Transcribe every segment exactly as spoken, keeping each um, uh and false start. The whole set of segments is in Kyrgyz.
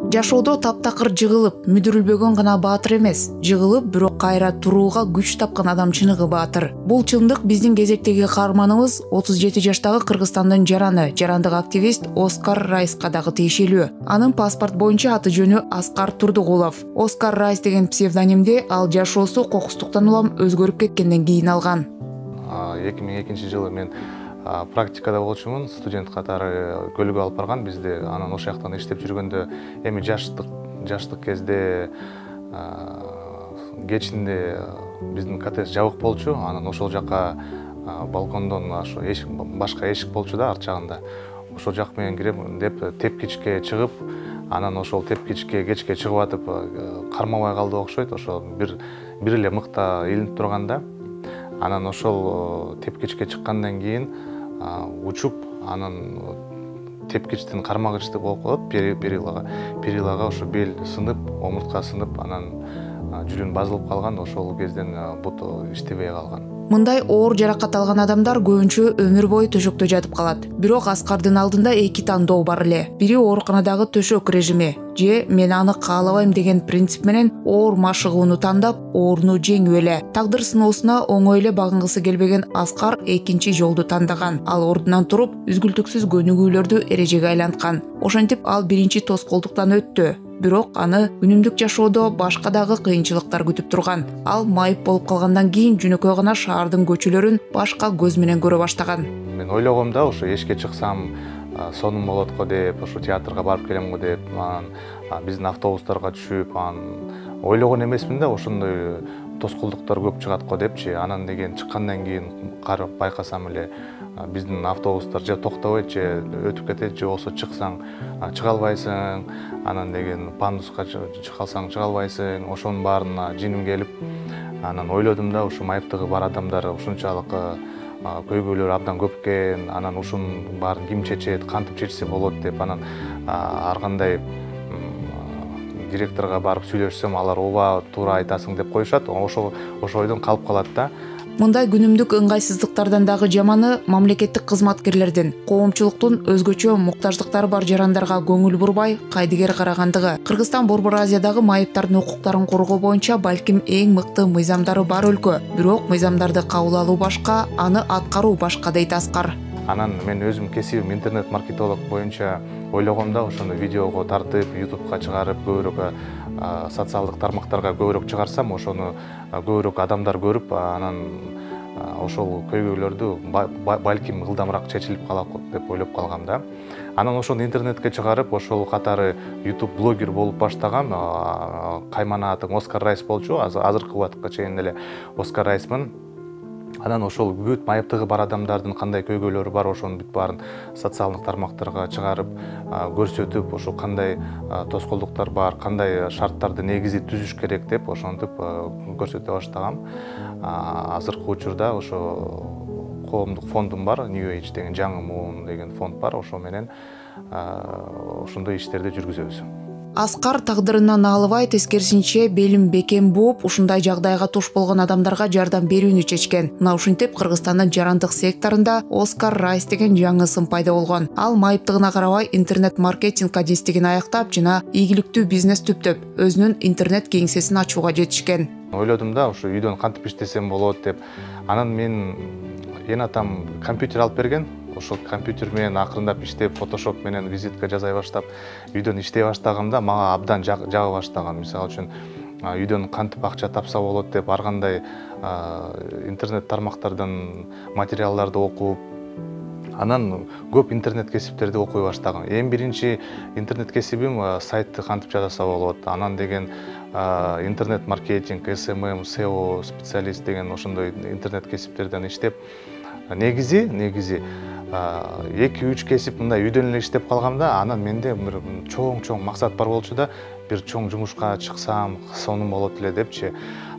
Жашоодо таптакыр жыгылып, мүдүрүлбөгөн гана баатыр эмес, жыгылып, бирок кайра турууга күч тапкан адам чыныгы баатыр. Бул чындык биздин кезектеги каарманыбыз отуз жети жаштагы Кыргызстандын жараны, жарандык активист Оскар Райска дагы тиешелүү. Анын паспорт боюнча аты жөнү Аскар Турдугулов. Оскар Райс деген псевдонимди ал жашоосу кокустуктан улам өзгөрүп кеткенден кийин алган. эки миң экинчи жылы мен практикада болчумун, студент катары көлгө алып барган бизди. Анан ошол жактан иштеп жүргөндө эми жаштык жаштык кезде кечинде биздин коттедж жабык болчу. Анан ошол жакка балкондон ошо эшик, башка эшик болчу да арт жагында. Ошол жак менен кирем деп тепкичке чыгып, анан ошол тепкичке кечке чыгып атып кармабай калды окшойт. Ошо бир бир эле мыкта илинип турганда, анан ошол тепкичке чыккандан кийин учуп, анан тепкичтин кармагычты болуп калат, перилага. Перилага ошо бел сынып, омуртка сынып, анан жүрүн базылып калган. Ошол кезден буту иштебей калган. Мындай оор жаракат алган адамдар көбүнчө өмүр бою төшөктө жатып калат. Бирок Аскардын алдында эки тандоо бар эле. Бири ооруканадагы төшөк режими, же мен аны каалабайм деген принцип менен оор машыгууну тандап, ооруну жеңип эле. Тагдыр сыноосуна оңой эле багынгысы келбеген Аскар экинчи жолду тандаган. Ал ордунан туруп, үзгүлтүксүз көнүгүүлөрдү эрежеге айланткан. Ошентип ал биринчи тоскоолдуктан өттү. Бирок аны күнүмдүк жашоодо башка дагы кыйынчылыктар күтүп турган. Ал майып болуп калгандан кийин жөнөкөй гана шаардын көчөлөрүн башка көз менен көрө баштаган. Мен ойлогом да, ошо эшикке чыксам сонун болот го деп, ошо театрга барып келем го деп, анан биздин автобустарга түшүп, анан ойлогон эмесмин да, ошондой тоскоолдуктар көп чыгат го депчи. Анан деген чыккандан кийин карап байкасам эле биздин автобустар же токтобойт, же өтүп кетет, же болсо чыксаң чыга албайсың. Анан деген пандуска чыга алсаң чыга албайсың. Ошонун баарына жиним келип, анан ойлодум да, ушу майыптыгы бар адамдар ушунчалык көйгөйлөр абдан көп экен. Анан ушунун баарын ким чечет, кантип чечсе болот деп, анан ар кандай директорго барып сүйлөшсөм, алар ооба туура айтасың деп коюшат. Ошо ошо ойдон калып калат да. Мындай күнүмдүк ыңгайсыздыктардан дагы жаманы мамлекеттик кызматкерлердин, коомчулуктун өзгөчө муктаждыктары бар жарандарга көңүл бурбай, кайдыгер карагандыгы. Кыргызстан Борбор Азиядагы майыптардын укуктарын коргоо боюнча балким эң мыкты мыйзамдары бар өлкө. Бирок мыйзамдарды кабыл алуу башка, аны аткаруу башка дейт Аскар. Анан мен өзүм кесибим интернет-маркетолог боюнча ойлогом да, ошону видеого тартып, ютубка чыгарып, көбүрөөк социалдык тармактарга көбүрөөк чыгарсам, ошону көбүрөөк адамдар көрүп, анан ошол көйгөйлөрдү балким ылдамыраак чечилип калат деп ойлоп калгам да. Анан ошону интернетке чыгарып, ошол катары YouTube блогер болуп баштагам. Каймана атым Оскар Райс болчу, азыркы убакытка чейин эле Оскар Райсмын. Анан ошол бүт майыптыгы бар адамдардын кандай көйгөйлөрү бар, ошонун бүт баарын социалдык тармактарга чыгарып, көрсөтүп, ошо кандай тоскоолдуктар бар, кандай шарттарды негизи түзүш керек деп ошентип көрсөтө баштагам. Азыркы учурда ошо коомдук фондум бар, New Age деген, жаңы муун деген фонд бар, ошо менен ошондой иштерди жүргүзөбүз. Аскар тагдырынан алыбай, тескерисинче белин бекем бууп, ушундай жагдайга туш болгон адамдарга жардам берүүнү чечкен. Мына ушинтип Кыргызстандын жарандык секторунда Оскар Райс деген жаңы сын пайда болгон. Ал майыптыгына карабай интернет-маркетинг адистигин аяктап, жана ийгиликтүү бизнес түптөп, өзүнүн интернет кеңсесин ачууга жетишкен. Ойлодум да, ушу үйдөн кантип иштесем болот деп. Анан мен эн атам компьютер алып берген. Ошол компьютер менен акырындап иштеп, фотошоп менен визитка жасай баштап, үйдөн иштей баштаганда мага абдан жаба баштаган. Мисалы үчүн үйдөн кантип акча тапса болот деп ар кандай интернет тармактардан материалдарды окуп, анан көп интернет кесиптерди окуй баштагам. Эң биринчи интернет кесибим сайтты кантип жасаса болот. Анан деген интернет-маркетинг, эс эм эм, сео специалист деген ошондой интернет кесиптерден иштеп, негизи негизи эки үч кесип мындай үйдөн эле иштеп калгамда, анан менде бир чоң-чоң максат бар болчу да, бир чоң жумушка чыксам, сонун болот эле депчи.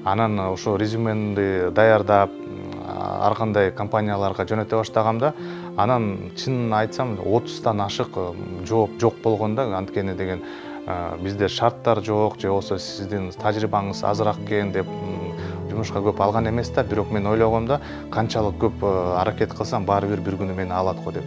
Анан ошо резюмемди даярдап, ар кандай компанияларга жөнөтө баштагамда, анан чынын айтсам отуздан ашык жооп жок болгондо, анткени деген бизде шарттар жок, же болсо сиздин тажрыйбаңыз азыраак экен деп жумушка көп алган эмес да. Бирок мен ойлогом да, канчалык көп аракет кылсам баары бир бир күнү мени алат го деп.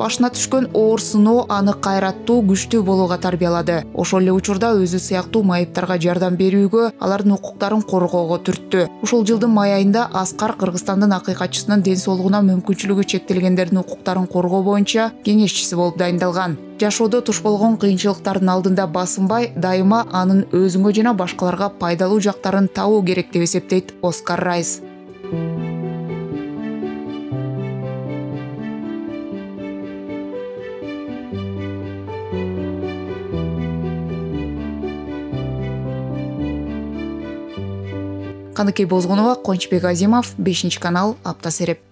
башына түшкөн оор сыноо аны кайраттуу, күчтүү болууга тарбиялады. Ошол эле учурда өзү сыяктуу майыптарга жардам берүүгө, алардын укуктарын коргоого түрттү. Ушул жылдын май айында Аскар Кыргызстандын акыйкатчысынын ден соолугуна мүмкүнчүлүгү чектелгендердин укуктарын коргоо боюнча кеңешчиси болуп дайындалган. Жашоодо туш болгон кыйынчылыктардын алдында басынбай, дайыма анын өзүңө жана башкаларга пайдалуу жактарын табуу керек деп эсептейт Оскар Райс. Каныкей Бозгунова, Кончбек Азимов, бешинчи канал, Апта Сереп.